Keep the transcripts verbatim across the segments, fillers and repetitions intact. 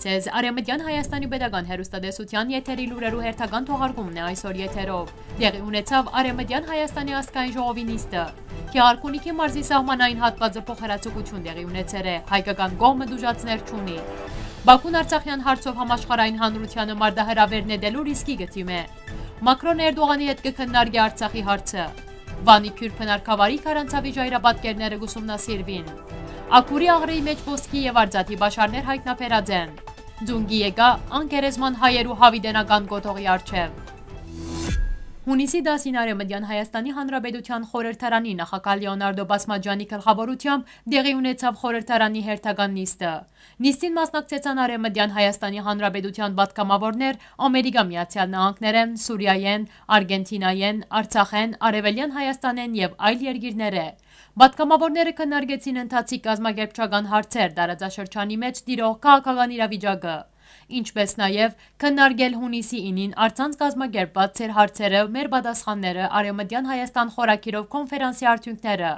Ձեզ Արեւմտեան Հայաստանի պետական հեռուստատեսութեան եթերի լուրերու հերթական թողարկումն է այսօր եթերով։ Տեղի ունեցաւ Արեւմտեան Հայաստանի ազգային ժողովի նիստը։ Գեղարքունիքի մարզի սահմանային հատուածը փոխհրաձգություն տեղի ունեցեր է, հայկական կողմը դուժածներ չունի։ Բաքուն Արցախեան հարցով համաշխարհային հանրութեանը մարտահրաւեր նետելու ռիսկի կը դիմէ։ Մակրոն Էրդողանի հետ կը քննարկի Արցախի հարցը։ Վանի քիւր բնակավարի քարանցաւի ժայռապատկերները կ'ուսումնասիրուին։ Աքուրի աղրի մէջ ոսկի եւ արծաթի պաշարներ յայտնաբերած են։ Ձունկի եկայ անկերեզման հայերու յաւիտենական կոթողի առջեւ։ Յունիսի տասին Արեւմտեան Հայաստանի Հանրապետութեան խորհրդարանի նախագահ Լեոնարդո Բասմաջանի գլխաւորութեամբ տեղի ունեցաւ խորհրդարանի հերթական նիստը։ Նիստին մասնակցեցան Արեւմտեան Հայաստանի Հանրապետութեան պատգամաւորներ Ամերիկա Միացեալ Նահանգներէն, Սուրիայէն, Արգենթինայէն, Արցախէն, Արեւելեան Հայաստանէն եւ այլ երկիրներէ։ Պատգամաւորները քննարկեցին ընթացիկ կազմակերպչական հարցեր, տարածաշրջանի մէջ տիրող քաղաքական իրավիճակը, ինչպէս նաեւ քննարկել յունիսի ինին առցանց կազմակերպուած ձեր հարցերը, մեր պատասխանները, Արեւմտեան Հայաստան խորագիրով քոնֆերանսի արդիւնքները։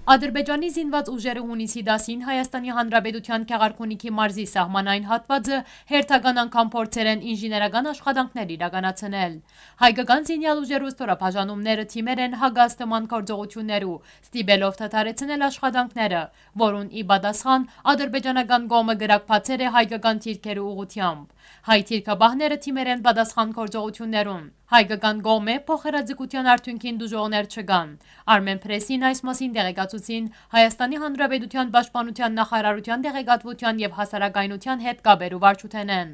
Ադրբեջանի զինուած ուժերը յունիսի տասին Հայաստանի Հանրապետութեան Գեղարքունիքի մարզի սահմանային հատուածը հերթական անգամ փորձեր են ինժեներական աշխատանքներ իրականացնել։ Հայկական զինեալ ուժերու ստորաբաժանումները թիմեր են հակաստման գործողութիւններու, ստիպելով դադարեցնել աշխատանքները, որուն ի պատասխան ադրբեջանական կողմը կրակ բացեր է հայկական թիրքերու ուղղութեամբ։ Հայ թիրքապահները թիմեր են պատասխան գործողութիւններուն։ Հայկական կողմէ փոխհրաձգութեան արդիւնքին դուժողներ չկան։ Արմեն Պրեսին այս մասին տեղեկացուցին Հայաստանի Հանրապետութեան պաշտպանութեան նախարարութեան տեղեկատվութեան եւ հասարակայնութեան հետ կապերու վարչութենէն։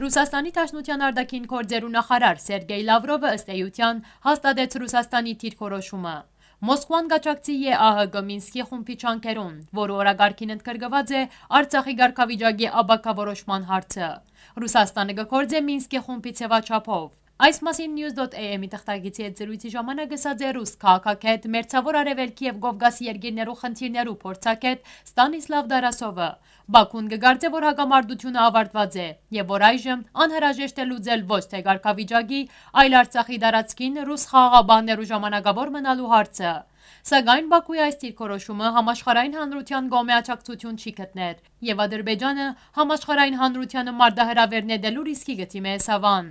Ռուսաստանի Դաշնութեան արտաքին գործերու նախարար Սերգեյ Լավրովը, ըստ էութեան, հաստատեց Ռուսաստանի դիրքորոշումը։ Մոսկվան կաջակցի ԵԱՀԿ Մինսկի խումբի ջանքերուն, որը օրակարգին ընդգրկուած է Արցախի կարգավիճակի ապագա որոշման հարցը։ Ռուսաստանը կը գործէ Մինսկի խումբի ձեւաչափով։ Այս մասին News dot A M-ի թղթակիցի հետ զրոյցի ժամանակ ըսած է ռուս քաղաքագէտ, Մերձաւոր Արեւելքի եւ Կովկասի երկիրներու խնդիրներու փորձագէտ Ստանիսլավ Տարասովը։ Բաքուն կը կարծէ, որ հակամարտությունը աւարտուած է եւ որ այժմ անհրաժեշտ է լուծել ոչ թե կարգավիճակի, այլ Արցախի տարածքին ռուս խաղաղապահներու ժամանակաւոր մնալու հարցը։ Սակայն Բաքուի այս դիրքորոշումը համաշխարհային հանրութեան կողմէ աջակցութիւն չի գտներ եւ Ադրբեջանը համաշխարհային հանրութեանը մարտահրաւեր նետելու ռիսկի կը դիմէ Սավան։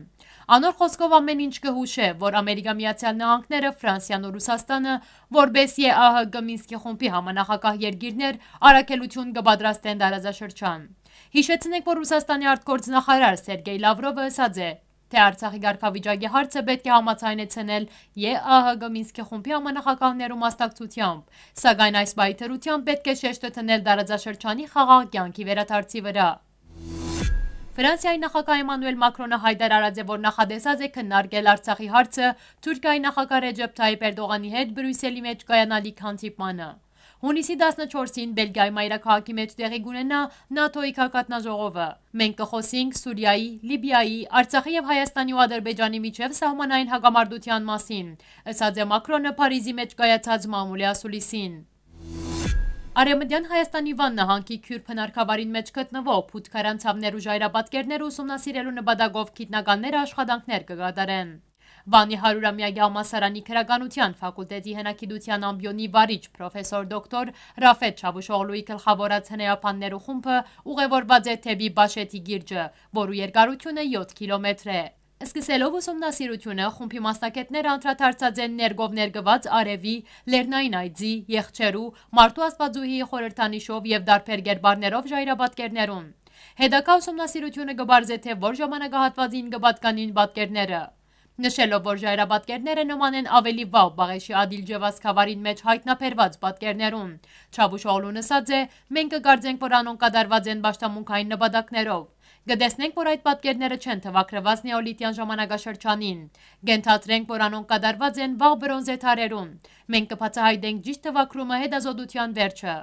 Անոր խօսքով, ամէն ինչ կը յուշէ, որ Ամերիկա Միացեալ Նահանգները, Ֆրանսիան ու Ռուսաստանը, որպէս ԵԱՀԿ Մինսկի խումբի համանախագահ երկիրներ, առաքելութիւն կը պատրաստեն տարածաշրջան։ Յիշեցնենք, որ Ռուսաստանի արտգործնախարար Սերգեյ Լավրովը ըսած է, թէ Արցախի կարգավիճակի հարցը պէտք է համաձայնեցնել ԵԱՀԿ Մինսկի խումբի համանախագահներու մասնակցութեամբ, սակայն այս պայթերութեան պէտք է շեշտը դնել տարածաշրջանի խաղաղ կեանքի վերադարձի վրայ։ Ֆրանսիայի նախագահ Էմանուել Մակրոնը յայտարարած է, որ նախատեսած է քննարկել Արցախի հարցը Թուրքիայի նախագահ Ռեջեփ Թայիփ Էրդողանի հետ Բրիուսելի մէջ կայանալիք հանդիպմանը։ Յունիսի տասնչորսին Բելգիայի մայրաքաղաքի մէջ տեղի կունենայ նատօ-ի գագաթնաժողովը։ «Մենք կը խօսինք Սուրիայի, Լիբիայի, Արցախի եւ Հայաստանի ու Ադրբեջանի միջեւ սահմանային հակամարտութեան մասին», ըսած է Մակրոնը Փարիզի մէջ կայացած մամուլի ասուլիսին։ Արեւմտեան Հայաստանի Վան նահանգի Քիւր բնակավարին մէջ գտնուող փութ քարանցաւներու ժայռապատկերները ուսումնասիրելու նպատակով գիտնականները աշխատանքներ կը կատարեն։ Վանի հարիւրամեակի համալսարանի քրականութեան ֆակուլտետի հենակիտութեան ամբիոնի վարիչ պրոֆեսոր դոկտոր Ռաֆետ Չավուշօղլուի գլխաւորած հնեաբաններու խումբը ուղեւորուած է դէպի Պաշեթի կիրճը, որու երկարութիւնը եօթ կիլոմեթր է։ Սկսելով ուսումնասիրութիւնը, խումբի մասնագէտները անդրադարձած են ներկով ներկուած արեւի, լեռնային այծի, եղջերու, մարդու աստուածուհիի խորհրդանիշով եւ տարբեր կերպարներով ժայռապատկերներուն։ Հետագայ ուսումնասիրութիւնը կը պարզէ, թէ որ ժամանակահատուածին կը պատկանին պատկերները։ Նշելով, որ ժայռապատկերները նման են ավելի վաղ Պաղեշի Ադիլ Ջեվաս գաւառին մէջ յայտնաբերուած պատկերներուն, Չավուշօղլուն ըսած է. «Մենք կը կարծենք, որ անոնք կատարուած են պաշտամունքային նպատակներով։ Կը տեսնենք, որ այդ պատկերները չեն թուակրուած նեոլիթեան ժամանակաշրջանին։ Կ'ենթադրենք, որ անոնք կատարուած են վաղ բրոնզե դարերուն։ Մենք կը բացայայտենք ճիշդ թուակրումը հետազոտութեան վերջը»։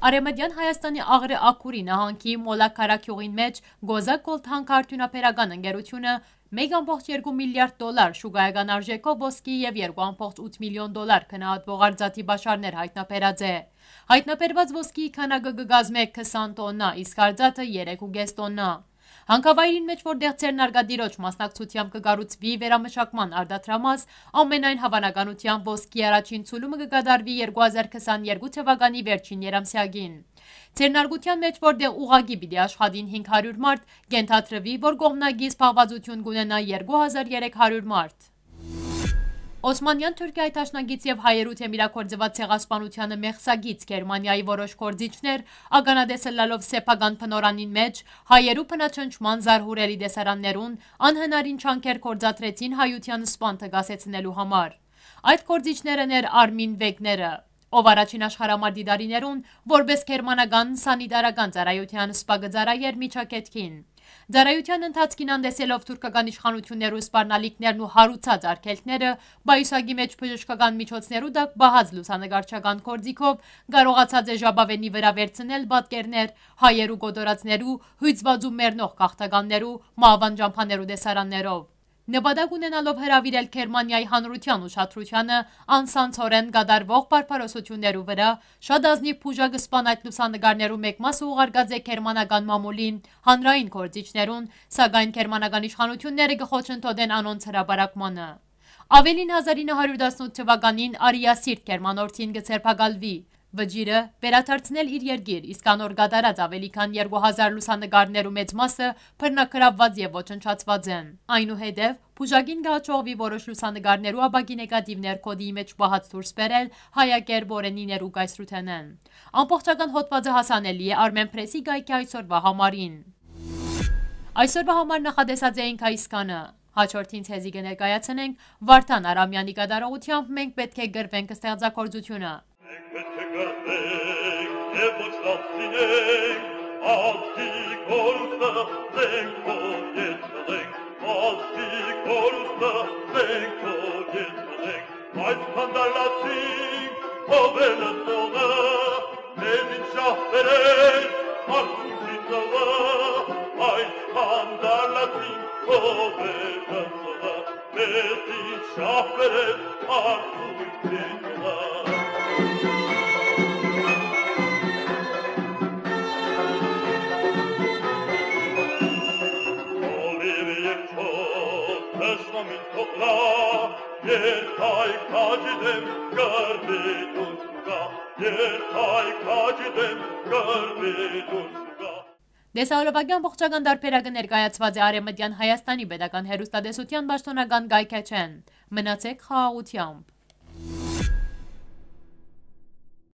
Արեւմտեան Հայաստանի Աղրի Աքուրի նահանգի Մոլաքարա գիւղին մէջ Կոզա Կոլթանկ արդիւնաբերական ընկերութիւնը մէկ ամբողջ երկու միլիարդ դոլար շուկայական արժէքով ոսկի եւ երկու ամբողջ ութ միլիոն դոլար գնահատուող արծաթի պաշարներ յայտնաբերած է։ Յայտնաբերուած ոսկիի քանակը կը կազմէ քսան տոննա, իսկ արծաթը՝ երեք ու կէս տոննա։ Հանքավայրին մէջ, որտեղ ձեռնարկատիրոջ մասնակցությամբ կը կառուցուի վերամշակման արտադրամաս, ամենայն հաւանականութեամբ ոսկի առաջին ցուլումը կը կատարուի երկու հազար քսաներկու թվականի վերջին երամսեակին։ Ձեռնարկութեան մէջ, որտեղ ուղղակի պիտի աշխատին հինգ հարիւր մարդ, կ'ենթադրուի, որ կողմնակի զբաղուածութիւն կ'ունենայ երկու հազար երեք հարիւր մարդ։ Օսմանեան Թուրքիայի դաշնակից եւ հայերու թեմիրագործուած ցեղասպանութեանը մեղսագից Գերմանիայի որոշ գործիչներ, ականատես ըլլալով սեփական բնօրրանին մէջ, հայերու բնաչնչման զարհուրելի տեսարաններուն անհնարին ջանքեր գործադրեցին հայութեան սպանքը կասեցնելու համար։ Այդ գործիչներն էր Արմին Վեգները, ով առաջին աշխարհամարտի տարիներուն որպէս գերմանական սանիտարական ծառայութեան սպա կը ծառայէր միջակէտքին։ Ծառայութեան ընթացքին անտեսելով թուրքական իշխանութիւններու սպառնալիքներն ու հարուցած արգելքները, պայուսակի մէջ բժշկական միջոցներու տակ պահած լուսանկարչական գործիքով կարողացած է ժապաւէնի վրայ վերցնել պատկերներ հայերու կոտորածներու, հիւծուած ու մեռնող գաղթականներու, մահուան ճամբաներու տեսարաններով։ Նպատակ ունենալով հրաւիրել Գերմանիայի հանրութեան ուշադրութիանը անսանցորեն կատարուող բարբարոսութիւններու վրայ, շատ ազնիւ բուժակ սպան այդ լուսանկարներու մէկ մասը ուղարկած է գերմանական մամուլին, հանրային գործիչներուն, սակայն գերմանական իշխանութիւնները կը խոչընդոտեն անոնց հրապարակմանը։ Աւելին, հազար ինը հարիւր տասնութ թվականին Արիա Սիրտ գերմանորդին կը ձերբակալուի։ Վճիռը վերադարձնել իր երկիր, իսկ անոր կատարած աւելի քան երկու հազար լուսանկարներու մեծ մասը բռնագրաւուած եւ ոչնչացուած են։ Այնուհետեւ, բուժակին կը հաջողուի որոշ լուսանկարներու ապակի նեգատիվներ կոդի մէջ պահած դուրս բերել հայակեր Բորենիներու կայսրութենէն։ Ամբողջական հոդվածը հասանելի է Արմեն Պրեսի կայքի այսօրվա համարին։ Այսօրվա համար նախատեսած էինք այսքանը։ Հաջորդին ձեզի կը ներկայացնենք Վարդան Արամեանի կատարողութեամբ «Մենք պէտք է կռվենք» ստեղծագործութիւնը։ Մենք պէտք է կռվենք եւ ոչ լաց լինենք, ազգի կորուստը զենք որ ետ մղենք, ազգի կորուստը զենք որ ետ մղենք, այսքան դարլացին ով է լսողը, մեզ ինչ շահ բերեց արցունքի ծովը, այսքան դարլացին ով է լսողը, մեզ ինչ շահ բերեց արցունքի ծովը։ Օլիվ եւ չոր թշնամին թողլա, երթայք քաջի դեմ կրվի դուրս կա, երթայք քաջի դեմ կրվի դուրս կա։ Տեսահոլովակի ամբողջական տարբերակը ներկայացված է Արեւմտեան Հայաստանի պետական հեռուստատեսութեան պաշտօնական կայքէջէն։ Մնացեք խաղաղութեամբ։